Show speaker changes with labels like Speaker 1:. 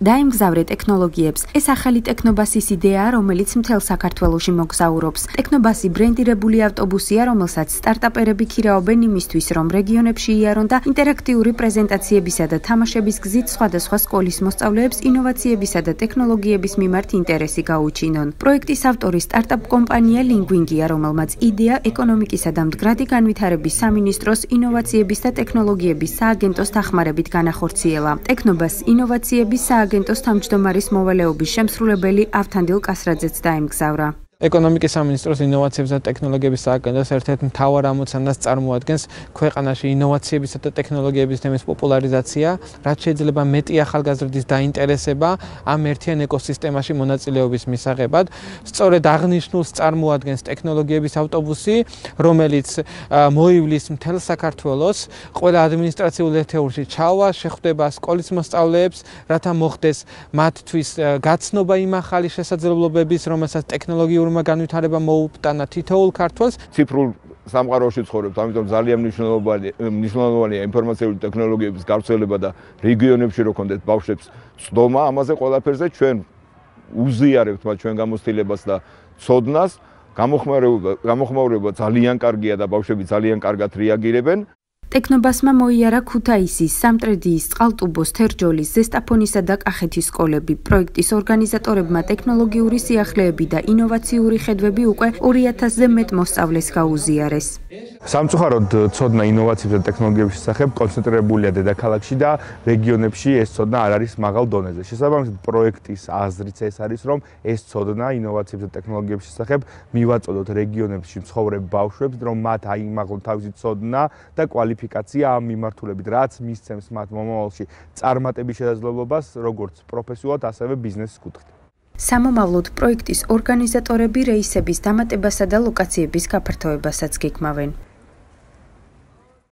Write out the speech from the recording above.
Speaker 1: დაემგზავრე ტექნოლოგიებს. ეს ახალი ტექნობასის იდეაა, რომელიც მთელ საქართველოში მოგზაურობს. ტექნობასი ბრენდირებული ავტობუსია, რომელსაც სტარტაპერები ქირაობენ იმისთვის, რომ რეგიონებში იარონ და ინტერაქტიული პრეზენტაციებისა და თამაშების გზით სხვადასხვა სკოლის მოსწავლეებს ინოვაციებისა და ტექნოლოგიების მიმართ ინტერესი გაუჩინონ. პროექტის ავტორი სტარტაპ კომპანია ლინგვინგია, რომელმაც იდეა ეკონომიკისა და მდგრადი განვითარების სამინისტროს ინოვაციების და ტექნოლოგიების სააგენტოს დახმარებით განახორციელა. ტექნობას ინოვაციების სააგენტოს თავმჯდომარის მოვალეობის შემსრულებელი ავთანდილ კასრაძეც დაემგზავრა.
Speaker 2: ეკონომიკის სამინისტროს ინოვაციების და ტექნოლოგიების სააგენტოს ერთ-ერთ მთავარ ამოცანას წარმოადგენს ქვეყანაში ინოვაციებისა და ტექნოლოგიების თემის პოპულარიზაცია, რაც შეიძლება მეტი ახალგაზრდის დაინტერესება ამ ერთიან ეკოსისტემაში მონაწილეობის მისაღებად. სწორედ აღნიშნულს წარმოადგენს ტექნოლოგიების ავტობუსი, რომელიც მოივლის მთელ საქართველოს, ყველა ადმინისტრაციულ ერთეულში ჩავა, შეხვდება სკოლის მოსწავლეებს, რათა მოხდეს მათთვის გაცნობა იმ ახალი შესაძლებლობების, რომელსაც ტექნოლოგიურ განვითარება მოუპტანა თითოეულ ქართველს.
Speaker 3: ციფრულ სამყაროში ცხოვრობთ, ამიტომ ძალიან მნიშვნელოვანია ინფორმაციული ტექნოლოგიების გავრცელება და რეგიონებში რო კონდეთ ბავშვებს ცდომა, ამაზე ყველაფერზე ჩვენ უზიარებთ მათ ჩვენ გამოცდილებას და ცოდნას. გამოხმაურება ძალიან კარგია და ბავშვები ძალიან კარგად რეაგირებენ.
Speaker 1: ტექნობასმა მოიარა ქუთაისის, სამტრედიის, წყალტუბოს, თერჯოლის, ზესტაფონისა და კახეთის სკოლები. პროექტის ორგანიზატორებმა ტექნოლოგიური სიახლეები და ინოვაციური ხედვები უკვე 2000-ზე მეტ მოსწავლეს გაუზიარეს.
Speaker 4: სამწუხაროდ ცოდნა ინოვაციების და ტექნოლოგიების შესახებ კონცენტრირებულია დედაქალაქში და რეგიონებში ეს ცოდნა არ არის მაღალ დონეზე. შესაბამისად, პროექტის აზრიც ეს არის, რომ ეს ცოდნა ინოვაციების და ტექნოლოგიების შესახებ მივაწოდოთ რეგიონებში მცხოვრებ ბავშვებს, რომ მათ აიმაღლონ თავისი ცოდნა და კვალიფიკაცია ამ მიმართულებით, რაც მისცემს მათ მომავალში წარმატების შესაძლებლობას, როგორც პროფესიულად, ასევე ბიზნესის კუთხით.
Speaker 1: სამომავლოდ პროექტის ორგანიზატორები რეისების დამატებასა და ლოკაციების გაფართოებასაც გეგმავენ.